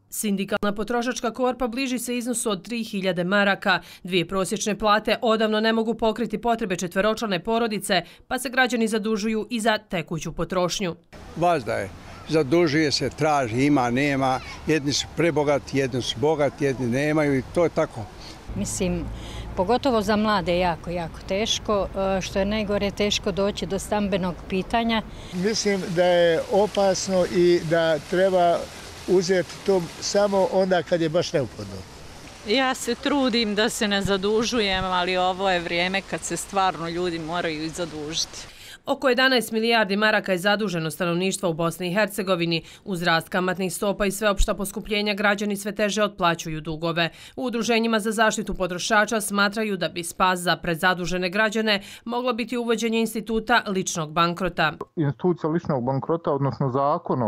Sindikalna potrošačka korpa bliži se iznosu od 3000 maraka. Dvije prosječne plate odavno ne mogu pokriti potrebe četveročlane porodice, pa se građani zadužuju i za tekuću potrošnju. Vazda je. Zadužuje se, traži, ima, nema. Jedni su prebogati, jedni su bogati, jedni nemaju i to je tako. Mislim, pogotovo za mlade je jako teško. Što je najgore, teško doći do stambenog pitanja. Mislim da je opasno i da treba uzeti to samo onda kad je baš neophodno. Ja se trudim da se ne zadužujem, ali ovo je vrijeme kad se stvarno ljudi moraju i zadužiti. Oko 11 milijardi maraka je zaduženo stanovništva u Bosni i Hercegovini. Uz rast kamatnih stopa i sveopšta poskupljenja građani sve teže otplaćuju dugove. U udruženjima za zaštitu potrošača smatraju da bi spas za prezadužene građane moglo biti uvođenje instituta ličnog bankrota. Institucija ličnog bankrota, odnosno zakon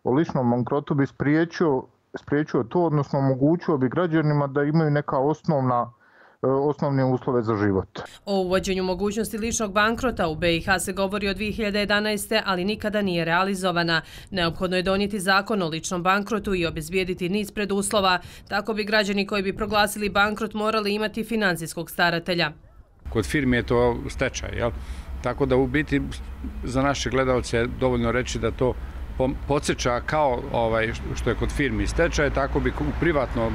o ličnom bankrotu bi spriječio to, odnosno omogućio bi građanima da imaju neka osnovne uslove za život. O uvođenju mogućnosti ličnog bankrota u BiH se govori od 2011. ali nikada nije realizovana. Neophodno je donijeti zakon o ličnom bankrotu i obezbijediti niz preduslova. Tako bi građani koji bi proglasili bankrot morali imati financijskog staratelja. Kod firmi je to stečaj, jel? Tako da u biti za naše gledalce je dovoljno reći da to podsjeća kao što je kod firmi stečaj, tako bi u privatnom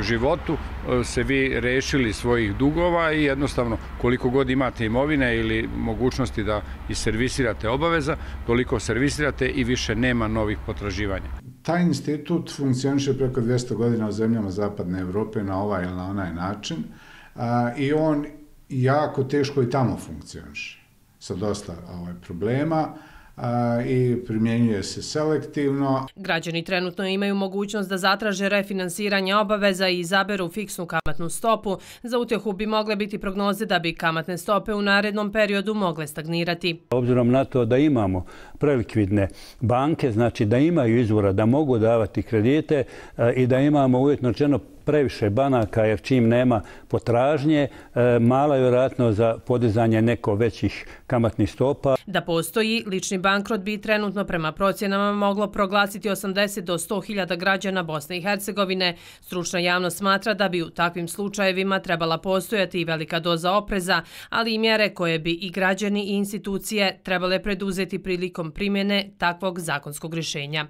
životu se vi rešili svojih dugova i jednostavno koliko god imate imovine ili mogućnosti da servisirate obaveza, toliko servisirate i više nema novih potraživanja. Taj institut funkcioniše preko 200 godina u zemljama Zapadne Evrope na ovaj ili na onaj način i on jako teško i tamo funkcioniše sa dosta problema i primjenjuje se selektivno. Građani trenutno imaju mogućnost da zatraže refinansiranje obaveza i izaberu fiksnu kamatnu stopu. Za utjehu bi mogle biti prognoze da bi kamatne stope u narednom periodu mogle stagnirati. Obzirom na to da imamo prelikvidne banke, znači da imaju izvora da mogu davati kredite i da imamo uvjetno rečeno previše banaka, jer čim nema potražnje, mala je vjerojatnost za podizanje neko većih kamatnih stopa. Da postoji, lični bankrot bi trenutno prema procjenama moglo proglasiti 80 do 100 hiljada građana Bosne i Hercegovine. Stručna javnost smatra da bi u takvim slučajevima trebala postojati i velika doza opreza, ali i mjere koje bi i građani i institucije trebale preduzeti prilikom primjene takvog zakonskog rješenja.